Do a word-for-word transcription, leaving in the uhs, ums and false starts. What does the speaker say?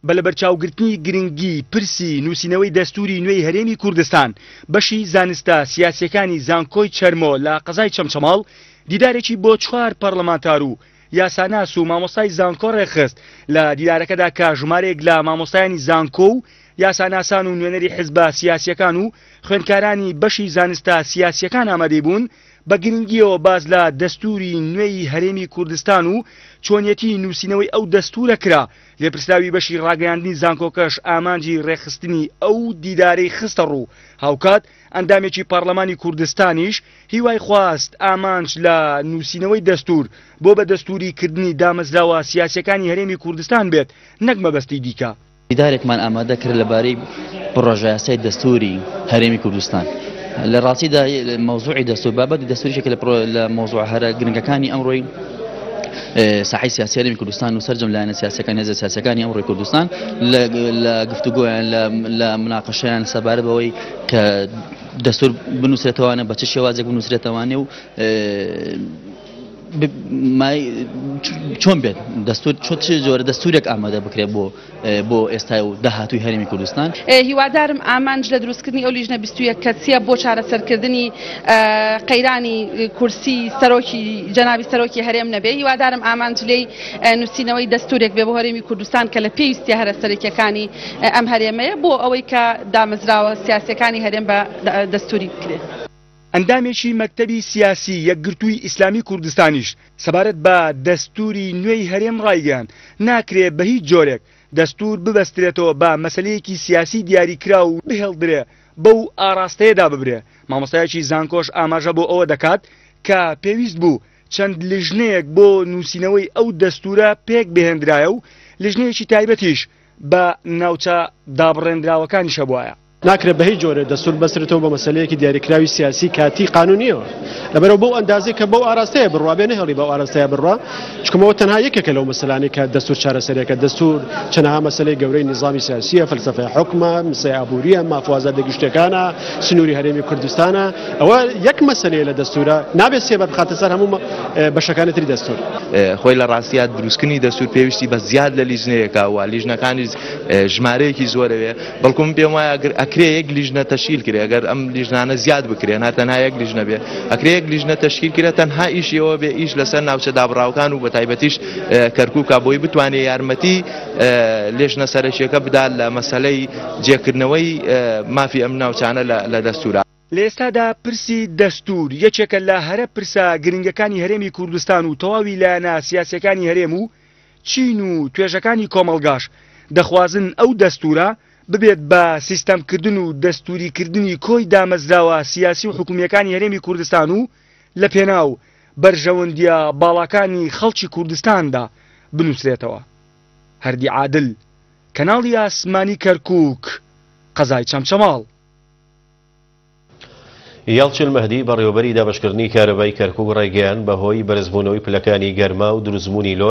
بە لەبەرچاوگرتنی گرنگی پرسی نووسینەوەی دەستوری نوێی هەرێمی کوردستان، بەشی زانستە سیاسیەکانی زانکۆی چەرمۆ لە قەزای چەمچەماڵ دیدارێکی بۆ چوار پەرلەمانتار و یاساناس و مامۆستای زانکۆ ڕێکخست. لە دیدارەکەدا کە ژمارەیەک لە مامۆستایانی زانکۆ و یاساناسان و نوێنەری حزبە سیاسیەکان و خوێندکارانی بەشی زانستە سیاسیەکان ئامادەی بوون، بە گرنگیەوە باز لە دەستوری نوێی هەرێمی کوردستان و چۆنیەتی نووسینەوەی ئەو دەستورە کرا. لێپرسراوی بەشی ڕاگەیاندنی زانکۆکەش ئامانجی ڕێکخستنی ئەو دیدارەی خستە ڕوو. هاوکات ئەندامێکی پەرلەمانی کوردستانیش هیوای خواست ئامانج لە نووسینەوەی دەستور بۆ بە دەستوری کردنی دامەزراوە سیاسیەکانی هەرێمی کوردستان بێت نەک مەبەستی دیکە. دیدارێکمان ئامادە کرد لەبارەی پڕۆژە یاسای دەستوری هەرێمی کوردستان. لە ڕاستیدا مەوزوعی دەستور بابەتی دەستوریشێکە لە مەوزوع هەرە گرنگەکانی ئەمڕۆی ساحەی سیاسی هەرێمی کوردستان و سەرجەم لایەنە سیاسەکان هێزە سیاسەکانی ئەمڕۆی کوردستان لە گفتوگۆیان لە مناقەشەیان سەبارەت بەوەی کە دەستور بنووسرێتەوانە بە چ شێوازێک بنووسرێتەوانێ و چۆن بێت دەستور چ جۆرە دەستورێک ئامادە بکرێت بۆ بۆ ئێستای و داهاتووی هەرێمی کوردستان. هیوادارم ئامانج لە دروستکردنی ئەو لیژنە بیست و یەک کەسیە بۆ چارەسەرکردنی قەیرانی کورسی سەرۆکی جەنابی سەرۆکی هەرێم نەبێ. هیوادارم ئامانج لێی نووسینەوەی دەستورێک بێ بۆ هەرێمی کوردستان کە لە پێویستیە هەرە سەرەکیەکانی ئەم هەرێمەیە بۆ ئەوەی کە دامەزراوە سیاسیەکانی هەرێم بە دەستوری بکرێت. ئەندامێکی مەکتەبی سیاسی یەکگرتووی ئیسلامی کوردستانیش سەبارەت بە دەستوری نوێی هەرێم ڕایگەیاند ناکرێ بە هیچ جۆرێک دەستور ببەسترێتەوە بە مەسلەیەکی سیاسی دیاریکرا و بهێڵدرێ بەو ئاراستەیەدا ببرێ. مامۆستایەکی زانکۆش ئاماژە بۆ ئەوە دەکات کە پێویست بوو چەند لیژنەیەک بۆ نووسینەوەی ئەو دەستورە پێک بهێنرایە و لیژنەیەکی تایبەتیش بە ناوچە دابڕێنراوەکانیشە بوایە. ناکرێت بە هیچ جۆرێ دەستور بەسرێتەوە بە مەسلەیەکی دیاریکراوی سیاسی کاتی قانونیەوە، لەبەرەوە بەو ئەندازەی کە بەو ئاراستەیە بڕوا بێ نەهێڵی بەو ئاراستەیە بڕوا، چونکەوە تەنها یەکێکە لەو مەسەلانەی کە دەستور چارەسەرێکە. دەستور چەنەها مەسلەی گەورەی نیزامی سیاسیە، فەلسەفەی حوکمە، مەسەلەی ئابووریە، ماف و ئازادیە گشتیەکانە، سنووری هەرێمی کوردستانە. ئەوە یەک مەسلەیە لە دەستورە، نابێت سێبەر بخاتە سەر هەموو بەشەکانی تری دەستور. خۆی لە ڕاستیات دروستکردنی دەستور پێویستی بە زیاد لە لیژنەیەکە و لیژنەکانی ژمارەیەکی زۆرەوێ، بەڵکم پێم وایە ئەگەر ئەکرێ یەک لیژنە تەشکیل کرێ، ئەگەر ئەم لیژنانە زیاد بکرێن هەر تەنها یەک لیژنە بێ، ئەکرێ یەک لیژنە تەشکیل کرێ تەنها ئیشی ئەوە بێ ئیش لەسەر ناوچە دابڕاوەکان و بە تایبەتیش کەرکووکە بۆی بتوانێ یارمەتی لیژنە سەرەکیەکە بدات لە مەسەلەی جێکردنەوەی مافی ئەم ناوچانە لە دەستورە. لە ئێستادا پرسی دەستور یەکێکە لە هەرە پرسە گرنگەکانی هەرێمی کوردستان و تەواوی لایەنە سیاسیەکانی هەرێم و چین و توێژەکانی کۆمەڵگاش دەخوازن ئەو دەستورە ببێت بە سیستەمکردن و دەستوریکردنی کۆی دامەزراوە سیاسی و حکومیەکانی هەرێمی کوردستان و لە پێناو بەرژەوەندیە باڵاکانی خەڵکی کوردستاندا بنووسرێتەوە. هەردی عادل، کەناڵی ئاسمانی کەرکووک، قەزای چەمچەماڵ. یاڵچن مەهدی بەڕێوەبەری دابەشکردنی کارەبای کەرکووک ڕایگەیاند بەهۆی بەرزبوونەوەی پلەکانی گەرما و دروستبوونی لۆ